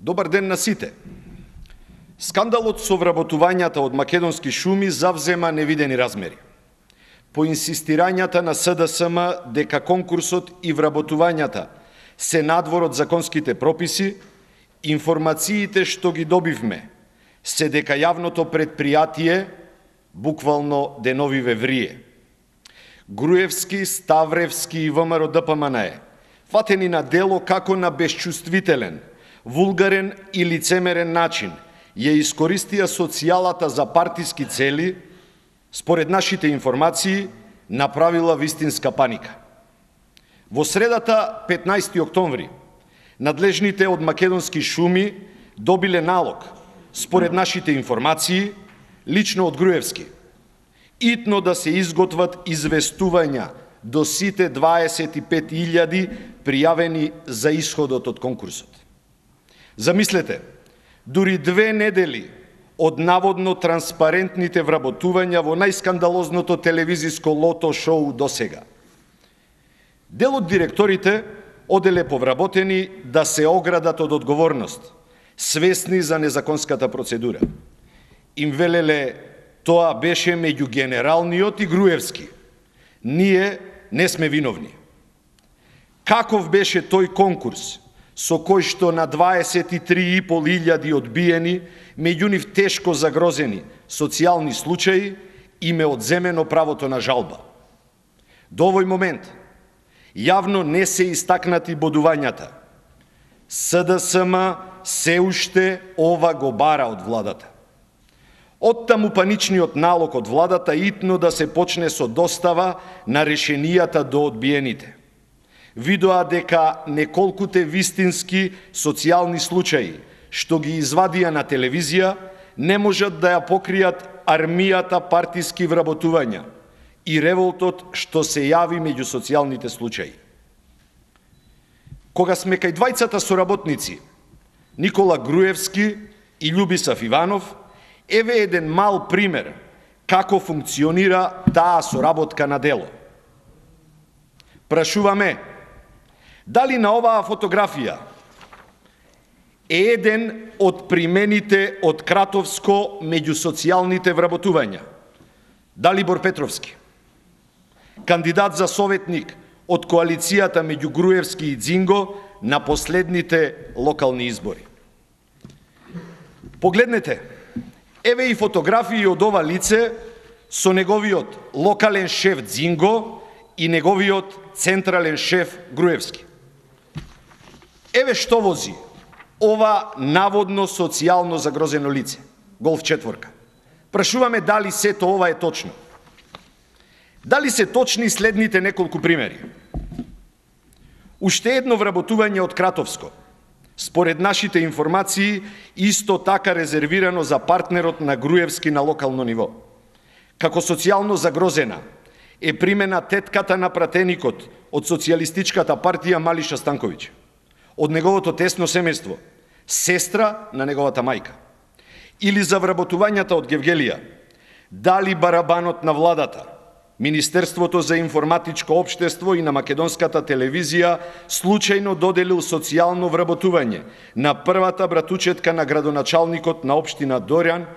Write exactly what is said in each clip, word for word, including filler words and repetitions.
Добар ден на сите. Скандалот со вработувањата од македонски шуми завзема невидени размери. По инсистирањата на С Д С М дека конкурсот и вработувањата се надвор од законските прописи, информациите што ги добивме се дека јавното предпријатие буквално деновиве врие. Груевски, Ставревски и В М Р Д П М Н Е фатени на дело како на безчувствителен, вулгарен и лицемерен начин ја искористија социјалата за партиски цели, според нашите информации, направила вистинска паника. Во средата, петнаесети октомври, надлежните од македонски шуми добиле налог, според нашите информации, лично од Груевски, итно да се изготват известувања до сите дваесет и пет илјади пријавени за исходот од конкурсот. Замислете, дури две недели од наводно транспарентните вработувања во најскандалозното телевизиско лото шоу досега. Дел од директорите оделе повработени да се оградат од одговорност, свесни за незаконската процедура. Им велеле тоа беше меѓу генералниот и Груевски. Ние не сме виновни. Каков беше тој конкурс, со кој што на дваесет и три и пол илјади одбиени, меѓу нив тешко загрозени социјални случаи, им е одземено правото на жалба. До овој момент јавно не се истакнати бодувањата. С Д С М се уште ова го бара од владата. Оттаму паничниот налог од владата итно да се почне со достава на решенијата до одбиените. Видоа дека неколкуте вистински социјални случаи, што ги извадија на телевизија, не можат да ја покријат армијата партиски вработувања и револтот што се јави меѓу социјалните случаи. Кога сме кај двајцата соработници, Никола Груевски и Љубисав Иванов, еве еден мал пример како функционира таа соработка на дело. Прашуваме, дали на оваа фотографија е еден од примените од Кратовско меѓу социјалните вработувања? Далибор Петровски, кандидат за советник од коалицијата меѓу Груевски и Дзинго на последните локални избори. Погледнете, еве и фотографии од ова лице со неговиот локален шеф Дзинго и неговиот централен шеф Груевски. Еве што вози ова наводно социјално загрозено лице, Голф четворка. Прашуваме дали сето ова е точно. Дали се точни следните неколку примери. Уште едно вработување од Кратовско, според нашите информации, исто така резервирано за партнерот на Груевски на локално ниво. Како социјално загрозена е примена тетката на пратеникот од Социјалистичката партија Малиша Станковиќ, од неговото тесно семејство, сестра на неговата мајка. Или за вработувањата од Гевгелија, дали барабанот на владата, Министерството за информатичко општество и на македонската телевизија случајно доделил социјално вработување на првата братучетка на градоначалникот на општина Дорјан,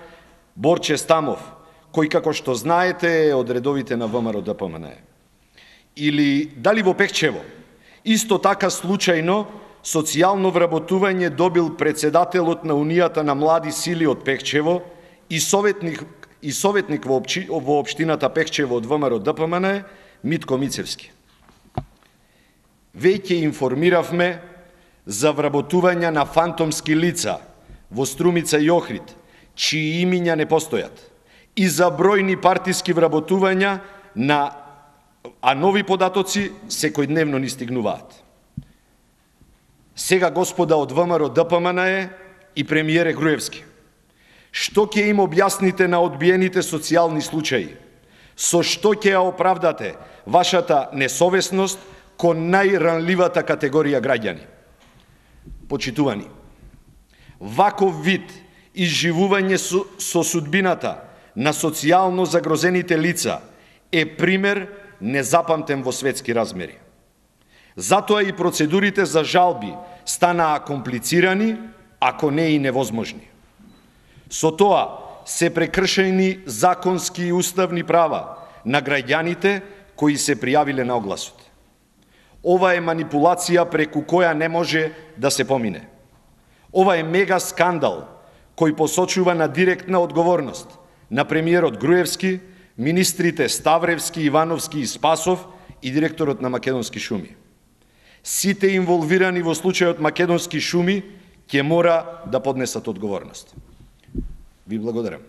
Борче Стамов, кој, како што знаете, е од редовите на В М Р Д П М Н Е. Или дали во Пехчево, исто така случајно, социјално вработување добил председателот на Унијата на млади сили од Пехчево и советник и советник во, опчи, во општината Пехчево од В М Р Д П М Н Е, Митко Мицевски. Веќе информиравме за вработувања на фантомски лица во Струмица и Охрид, чии имиња не постојат, и за бројни партиски вработувања на, а нови податоци секојдневно ни стигнуваат. Сега, господа од В М Р Д П М Н Е и премиере Груевски, што ќе им објасните на одбиените социјални случаи? Со што ќе ја оправдате вашата несовесност кон најранливата категорија граѓани? Почитувани, ваков вид изживување со, со судбината на социјално загрозените лица е пример незапамтен во светски размери. Затоа и процедурите за жалби станаа комплицирани ако не и невозможни. Со тоа се прекршени законски и уставни права на граѓаните кои се пријавиле на огласот. Ова е манипулација преку која не може да се помине. Ова е мега скандал кој посочува на директна одговорност на премиерот Груевски, министрите Ставревски, Ивановски и Спасов и директорот на Македонски шуми. Сите инволвирани во случајот Македонски шуми ќе мора да поднесат одговорност. Ви благодарам.